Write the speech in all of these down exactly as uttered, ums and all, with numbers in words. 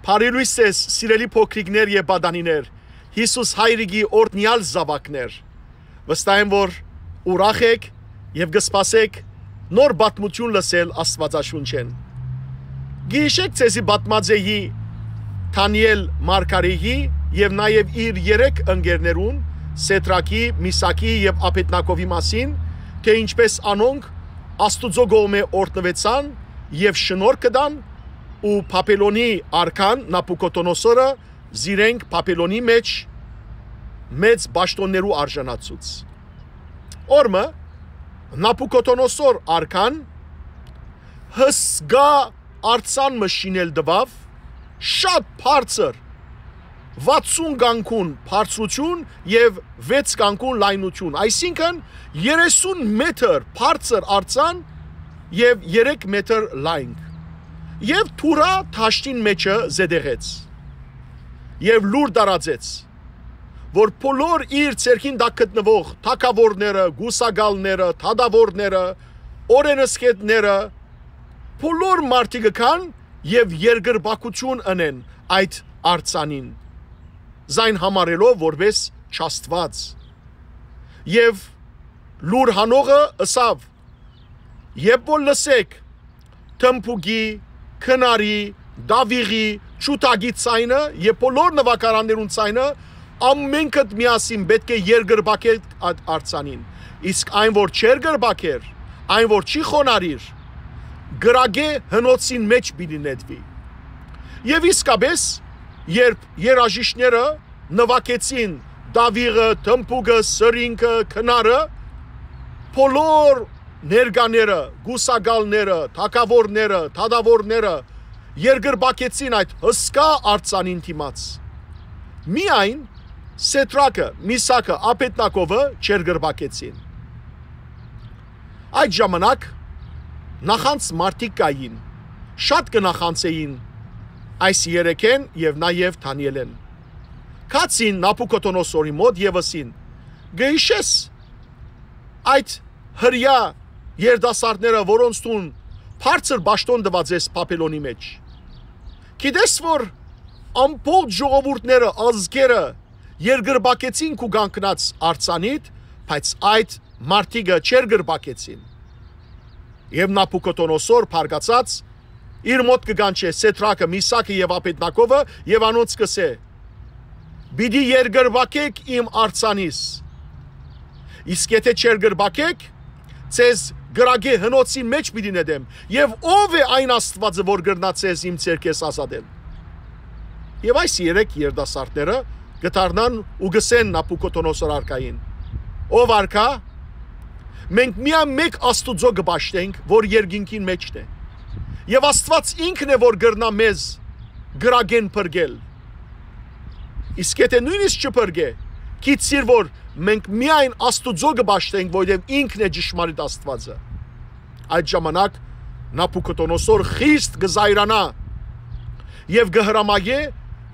Բարի լոյս ձեզ, սիրելի փոքրիկներ եւ պատանիներ, Յիսուս Հայրիկի օրհնեալ զաւակներ։ Վստահ եմ, որ ուրախ էք եւ կը սպասէք նոր պատմութիւն լսել Աստուածաշունչէն։ Գիշեք ձեզի պատմած էի Դանիել Մարգարեի եւ նաեւ իր երեք ընկերներուն՝ Սեդրակի, Միսակի եւ Աբեդնագովի մասին, թէ ինչպէս անոնք Աստուծոյ կողմէ օրհնուեցան եւ շնորհք կը տան ու Բաբելոնի արքան Նաբուքոդոնոսորը զիրենք Բաբելոնի մէջ մեծ պաշտօններու արժանացուց։ Օրը մը Նաբուքոդոնոսոր արքան հսկայ արձան մը շինել տուաւ, շատ բարձր, վաթսուն կանգուն բարձրութիւն եւ վեց կանգուն լայնութիւն, այսինքն՝ երեսուն մետր բարձր արձան եւ երեք մետր լայնք, եւ թուրա դաշտին մէջը զետեղեց եւ լուր տարածեց, որ բոլոր իր ձեռքին տակ գտնուող թագաւորները, կուսակալները, դատաւորները, օրէնսգետները, բոլոր մարդիկը գան եւ երկրպագութիւն ընեն այդ արձանին, զայն համարելով որպէս չաստուած։ Եւ լուր հանողը ըսաւ. «Երբ որ լսէք թմբուկի, քնարի, տաւիղի, ջութակի ձայնը եւ բոլոր նուագարաններուն ձայնը, ամէնքդ միասին պէտք է երկրպագէք այդ արձանին։ Իսկ այն որ չերկրպագէր, այն որ չի խոնարհիր, կրակէ հնոցին մէջ պիտի նետուի»։ Եւ իսկապէս, երբ երաժիշտները նուագեցին տաւիղը, թմբուկը, սրինգը, քնարը, բոլոր ներկաները, կուսակալները, թագաւորները, դատաւորները երկրպագեցին այդ հսկայ արձանին դիմաց։ Միայն Սեդրակը, Միսակը, Աբեդնագովը չերկրպագեցին։ Այդ ժամանակ նախանձ մարդիկ կային, շատ կը նախանձէին այս երեքէն եւ նաեւ Դանիելէն։ Գացին Նաբուքոդոնոսորի մօտ եւ ըսին. «Կը յիշե՞ս այդ հրեայ երիտասարդները, որոնց դուն բարձր պաշտօն տուած ես Բաբելոնի մէջ։ Գիտե՞ս, որ ամբողջ ժողովուրդները, ազգերը երկրպագեցին քու կանգնած արձանիդ, բայց այդ մարդիկը չերկրպագեցին»։ Եւ Նաբուքոդոնոսոր բարկացած իր մօտ կը կանչէ Սեդրակը, Միսակը եւ Աբեդնագովը եւ անոնց կ'ըսէ. «Պիտի երկրպագէք իմ արձանիս։ Իսկ եթէ չերկրպագէք, ձեզ կրակէ հնոցին մէջ պիտի նետեմ։ Եւ ո՞վ է այն Աստուածը, որ կրնայ ձեզ իմ ձեռքէս ազատել»։ Եւ այս երեք երիտասարդները կը դառնան ու կ'ըսեն Նաբուքոդոնոսոր արքային. «Ով արքայ, մենք միայն մէկ Աստուծոյ կը պաշտենք, որ երկինքին մէջն է։ Եւ Աստուած ինքն է, որ կրնայ մեզ կրակէն փրկել։ Իսկ եթէ նոյնիսկ չփրկէ, գիտցիր, որ մենք միայն Աստուծոյ կը պաշտենք, որովհետեւ ինքն է ճշմարիտ Աստուածը»։ Այդ ժամանակ Նաբուքոդոնոսոր խիստ կը զայրանայ եւ կը հրամայէ,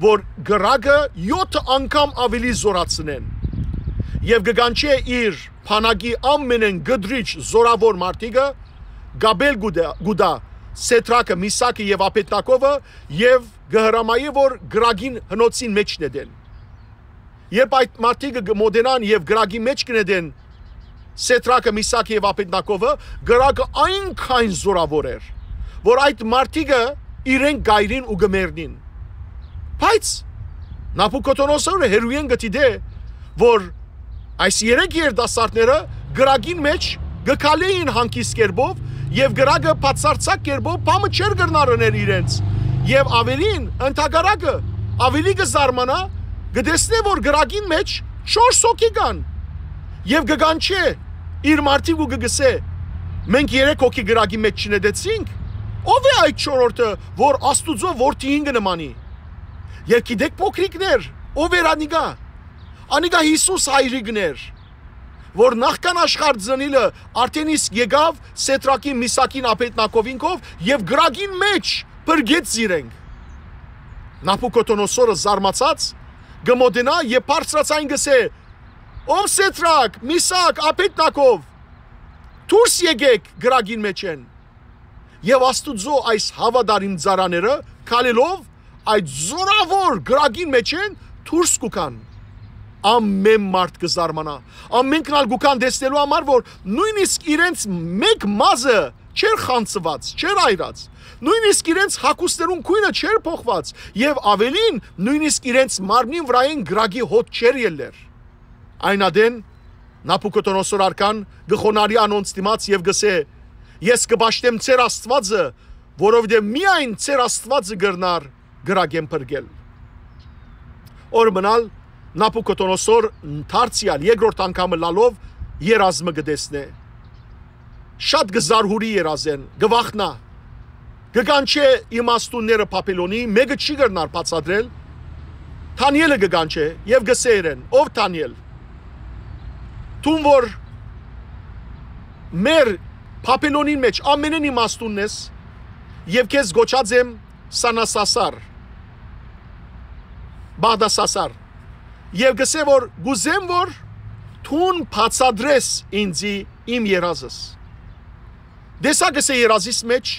որ կրակը եօթը անգամ աւելի զօրացնեն, եւ կը կանչէ իր բանակի ամենէն կտրիչ զօրաւոր մարդիկը, կապել կու տայ, կու տայ Սեդրակը, Միսակը եւ Աբեդնագովը, եւ կը հրամայէ, որ կրակին հնոցին մէջ նետեն։ Երբ այդ մարդիկը կը մօտենան եւ կրակի մէջ կը նետեն Սեդրակը, Միսակը եւ Աբեդնագովը, կրակը այնքան զօրաւոր էր, որ այդ մարդիկը իրենք կ'այրին ու կը մեռնին։ Բայց Նաբուքոդոնոսորը հեռուէն կը դիտէ, որ այս երեք երիտասարդները կրակին մէջ կը քալէին հանգիստ կերպով եւ կրակը բացարձակ կերպով բան մը չէր կրնար ընել իրենց։ Եւ աւելին, ընդհակառակը, աւելի կը զարմանայ, կը տեսնէ, որ կրակին մէջ չորս հոգի կան։ Եւ կը կանչէ իր մարդիկ ու կը գսէ. «Մենք երեք հոգի կրակի մէջ չնետեցինք։ Ո՞վ է այդ չորրորդը, որ Աստուծոյ որդիին կը նմանի»։ Եւ գիտէք, փոքրիկներ, ով էր անիկա։ Անիկա Յիսուս Հայրիկն էր, որ նախքան աշխարհ ծնիլը արդէն իսկ եկաւ Սեդրակին, Միսակին, Աբեդնագովին քով եւ կրակին մէջ փրկեց զիրենք։ Նաբուքոդոնոսորը զարմացած կը մօտենայ եւ բարձրաձայն կ'ըսէ. «Ով Սեդրակ, Միսակ, Աբեդնագով, դուրս եկէք կրակին մէջէն»։ Եւ Աստուծոյ այս հաւատարիմ ծառաները քալելով այդ զորաւոր կրակին մէջէն դուրս կու գան։ Ամէն մարդ կը զարմանայ։ Ամէնքն ալ կու գան տեսնելու համար, որ նոյնիսկ իրենց մէկ մազը չէր խանձուած, չէր այրած։ Նոյնիսկ իրենց հագուստներուն գոյնը չէր փոխուած եւ աւելին, նոյնիսկ իրենց մարմնին վրայէն կրակի հոտ չէր ելլեր։ Այն ատեն Նաբուքոդոնոսոր արքան կը խոնարհի անոնց դիմաց եւ կ'ըսէ. «Ես կը պաշտեմ ձեր Աստուածը, որովհետեւ միայն ձեր Աստուածը կրնար կրակէն փրկել»։ Օր մնալ Նաբուքոդոնոսոր դարձեալ երկրորդ անգամ ըլլալով երազը կը տեսնէ։ Շատ կը զարհուրի երազէն, կը վախնայ։ Կը կանչէ իմաստունները Բաբելոնի, մէկը չի կրնար բացատրել։ Դանիէլը կը կանչէ եւ կ'ըսէ իրեն. «Ով Դանիէլ, դուն որ մեր Բաբելոնին մէջ ամենէն իմաստունն ես, եւ քեզ կոչած եմ Սանասասար, Բաղդասասար, եւ կ'ըսէ որ կ'ուզեմ որ դուն բացատրես ինծի իմ երազս»։ Տեսա, կ'ըսէ, երազիս մէջ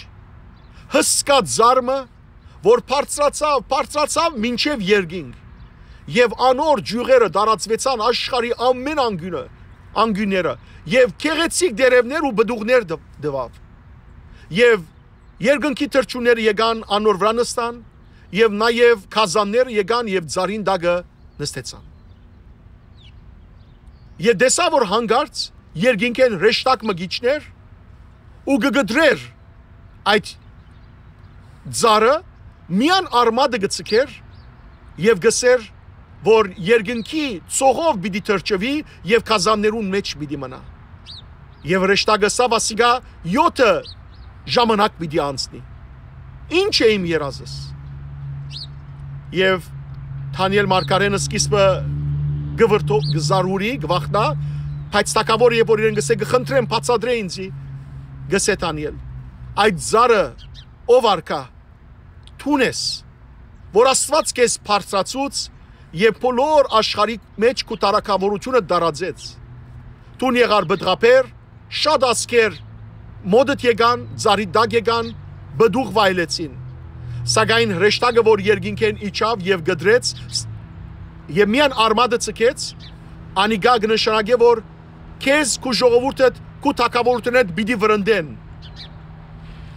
հսկայ ծառ մը, որ բարձրացաւ, բարձրացաւ մինչեւ երկինք, եւ անոր ճիւղերը տարածուեցան աշխարհի ամէն անկիւնը, անկիւնները, եւ գեղեցիկ տերեւներ ու պտուղներ տ-, տուաւ։ Եւ երկնքի թռչունները եկան անոր վրայ նստան, եւ նաեւ գազանները եկան եւ ծառին տակը նստեցան։ Եւ տեսայ որ յանկարծ երկինքէն հրեշտակ մը կ'իջնէր ու կը կտրէր այդ ծառը, միայն արմատը կը ձգէր եւ կ'ըսէր որ երկնքի ծովով պիտի թռչուի եւ գազաններուն մէջ պիտի մնայ։ Եւ հրեշտակը ըսաւ. «Ասիկա եօթը ժամանակ պիտի անցնի»։ Ի՞նչ է իմ երազս։ Եւ Դանիէլ մարգարէն սկիզբը կը վրդո-, կը զարհուրի, կը վախնայ, բայց թագաւորը, երբ որ իրեն կ'ըսէ. «Կը խնդրեմ, բացատրէ ինծի», կ'ըսէ Դանիէլ. «Այդ ծառը, ով արքայ, դուն ես, որ Աստուած քեզ բարձրացուց եւ բոլոր աշխարհի մէջ քու թագաւորութիւնը տարածեց։ Դուն եղար պտղաբեր, շատ ազգեր մօտդ եկան, ծառի տակ եկան, պտուղ վայելեցին։ Սակայն հրեշտակը, որ երկինքէն իջաւ եւ կտրեց, ս-, եւ միայն արմատը ձգեց, անիկա կը նշանակէ որ քեզ, քու ժողովուրդդ, քու թագաւորութիւնդ պիտի վրընդեն։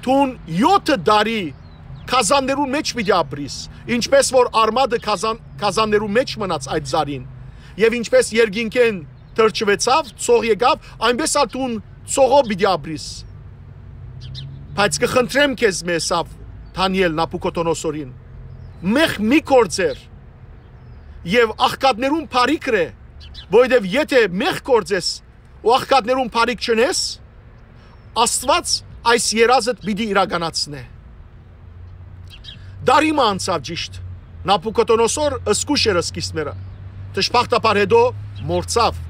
Դուն եօթը տարի գազաններուն մէջ պիտի ապրիս, ինչպես որ արմատը գազան-, գազաններուն մէջ մնաց այդ ծառին, եւ ինչպես երկինքէն թռչուեցաւ, ծով եկաւ, այնպես ալ դուն ծովով պիտի ապրիս։ Բայց կը խնդրեմ քեզմէ», ըսաւ Դանիէլ Նաբուքոդոնոսորին, «մեղք մի գործեր եւ աղքատներուն բարիք ըրէ, որովհետեւ եթէ մեղք գործես ու աղքատներուն բարիք չընես, Աստուած այս երազդ պիտի իրականացնէ»։ Տարի մը անցաւ ճիշդ։ Նաբուքոդոնոսոր զգոյշ էր սկիզբները, դժբախտաբար հետո մոռցաւ։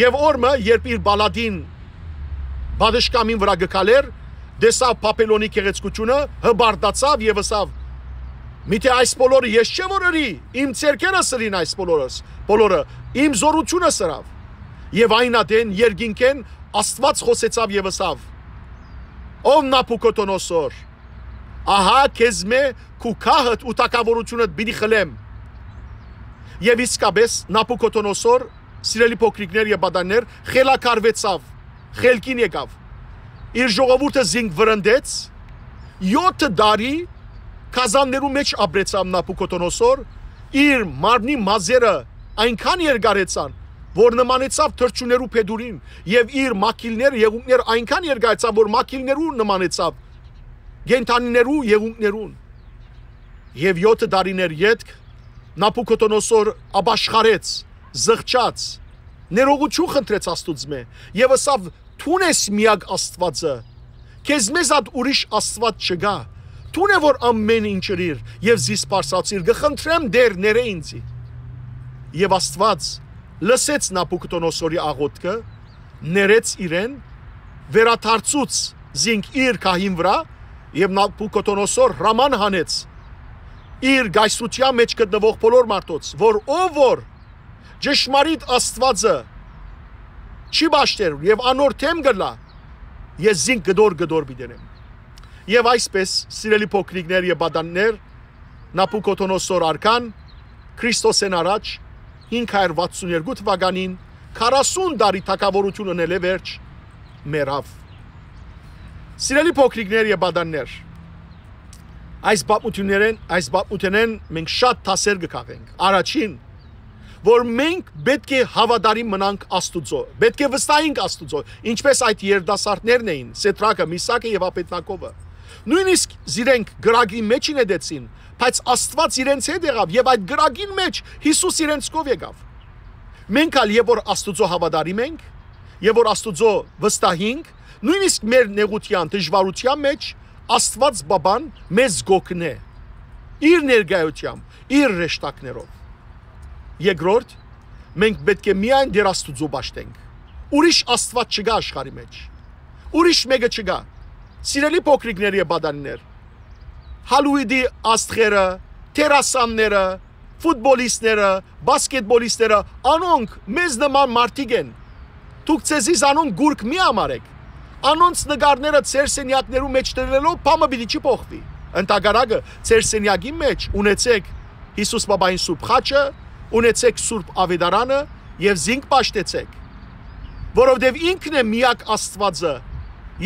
Եւ օր մը, երբ իր պալատին պատշգամին վրայ կը քալէր, տեսաւ Բաբելոնի գեղեցկութիւնը, հպարտացաւ եւ ըսաւ. «Միթէ այս բոլորը ես չէ՞ որ ըրի, իմ ձեռքերս ըրին այս բոլորս, բոլորը, իմ զօրութիւնս ըրաւ»։ Եւ այն ատեն երկինքէն Աստուած խօսեցաւ եւ ըսաւ. «Ով Նաբուքոդոնոսոր, ահա քեզմէ քու գահդ ու թագաւորութիւնդ պիտի խլեմ»։ Եւ իսկապէս Նաբուքոդոնոսոր, սիրելի փոքրիկներ եւ պատաններ, խելագարուեցաւ, խելքին եկաւ։ Իր ժողովուրդը զինք վրընդեց, եօթը տարի գազաններու մէջ ապրեցաւ Նաբուքոդոնոսոր, իր մարմնի մազերը այնքան երկարեցան, որ նմանեցաւ թռչուններու փետուրին, եւ իր մակիլները, եղունգները այնքան երկարեցան, որ մակիլներու նմանեցաւ կենդանիներու եղունգներուն։ Եւ եօթը տարիներ ետք Նաբուքոդոնոսոր ապաշխարեց, զղջաց, ներողութիւն խնդրեց Աստուծմէ եւ ըսաւ. «Դուն ես միակ Աստուածը, քեզմէ զատ ուրիշ Աստուած չկայ, դուն է որ ամէն ինչ ըրիր եւ զիս բարձրացիր, կը խնդրեմ Տէր, ներէ ինծի»։ Եւ Աստուած լսեց Նաբուքոդոնոսորի աղօթքը, ներեց իրեն, վերադարձուց զինք իր գահին վրայ, եւ Նաբուքոդոնոսոր հրաման հանեց իր կայսրութեան մէջ գտնուող բոլոր մարդոց, որ ով որ ճշմարիտ Աստուածը չի պաշտեր եւ անոր դէմ կ'ըլլայ, ես զինք կտոր կտոր պիտի դնեմ։ Եւ այսպես, սիրելի փոքրիկներ եւ պատաններ, Նաբուքոդոնոսոր արքան Քրիստոսէն առաջ հինգ հարիւր վաթսուն երկու թուականին, քառասուն տարի թագաւորութիւն ընելէ վերջ, մեռաւ։ Սիրելի փոքրիկներ եւ պատաններ, այս պատմութիւններէն, այս պատմութենէն մենք շատ դասեր կը քաղենք։ Առաջին, որ մենք պէտք է հաւատարիմ մնանք Աստուծոյ, պէտք է վստահենք Աստուծոյ, ինչպէս այդ երիտասարդներն էին, Սեդրակը, Միսակը եւ Աբեդնագովը։ Նոյնիսկ զիրենք կրակին մէջ նետեցին, բայց Աստուած իրենց հետ եղաւ եւ այդ կրակին մէջ Յիսուս իրենց քով եկաւ։ Մենք ալ, երբ որ Աստուծոյ հաւատարիմ ենք, երբ որ Աստուծոյ վստահ ենք, նոյնիսկ մեր նեղութեան, դժուարութեան մէջ Աստուած Պապան մեզ կ'օգնէ իր ներկայութեամբ, իր հրեշտակներով։ Երկրորդ, մենք պէտք է միայն Տեր Աստուծոյ պաշտենք։ Ուրիշ Աստուած չկայ աշխարհի մէջ։ Ուրիշ մէկը չկայ։ Սիրելի փոքրիկներ եւ պատանիներ, Հալուիդի աստղերը, դերասանները, ֆուտբոլիստները, բասկետբոլիստները, անոնք մեզ նման մարդիկ են։ Դուք ձեզի զանոնք կուրք մի համարեք։ Անոնց նկարները ձեր սենեակներու մէջ դրելով բան մը պիտի չի փոխուի։ Ընդհակառակը, ձեր սենեակի մէջ ունեցեք Յիսուս Պապային Սուրբ Խաչը, ունեցեք Սուրբ Աւետարանը եւ զինք պաշտեցեք, որովհետեւ ինքն է միակ Աստուածը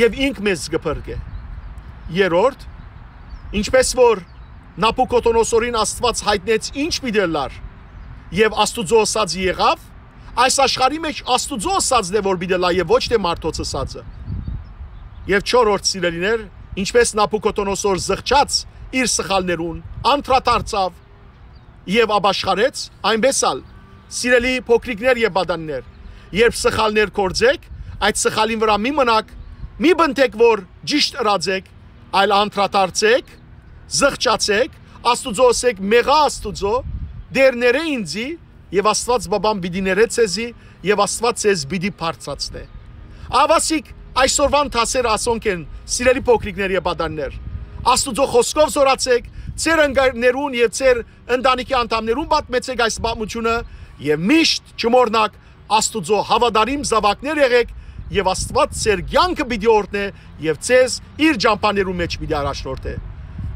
եւ ինք մեզ կը փրկէ։ Երրորդ, ինչպէս որ Նաբուքոդոնոսորին Աստուած յայտնեց ինչ պիտի ըլլար, եւ Աստուծոյ ըսածը եղաւ, այս աշխարհի մէջ Աստուծոյ ըսածն է որ պիտի ըլլայ եւ ոչ թէ մարդոց ըսածը։ Եւ չորրորդ, սիրելիներ, ինչպէս Նաբուքոդոնոսոր զղջաց իր սխալներուն, անդրադարձաւ եւ ապաշխարեց, այնպէս ալ, սիրելի փոքրիկներ եւ պատանիներ, երբ սխալներ գործեք, այդ սխալին վրայ մի մնաք, մի պնդեք որ ճիշդ ըրած եք, այլ անդրադարձեք, զղջացեք, Աստուծոյ ըսեք, մեղա Աստուծոյ, Տէր, ներէ ինծի, եւ Աստուած Պապան պիտի ներէ ձեզի, եւ Աստուած ձեզ պիտի բարձրացնէ։ Ահա ասիկա այսօրուան դասերը ասոնք են, սիրելի փոքրիկներ եւ պատանիներ։ Աստուծոյ խօսքով զօրացեք, ձեր ընկերներուն եւ ձեր ընտանիքի անդամներուն պատմեցեք այս պատմութիւնը եւ միշտ չմոռնաք, Աստուծոյ հաւատարիմ զաւակներ եղէք եւ Աստուած ձեր կեանքը պիտի օրհնէ եւ ձեզ իր ճամբաներուն մէջ պիտի առաջնորդէ։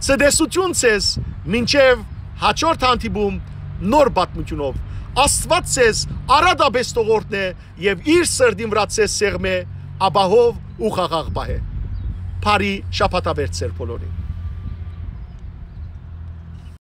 Ցտեսութիւն ձեզ, մինչեւ հաջորդ հանդիպում նոր պատմութիւնով։ Աստուած ձեզ արատապէս թող օրհնէ եւ իր սրտին վրայ ձեզ սեղմէ, ապահով ու խաղաղ պահէ։ Բարի շաբաթավերջ ձեր բոլորին։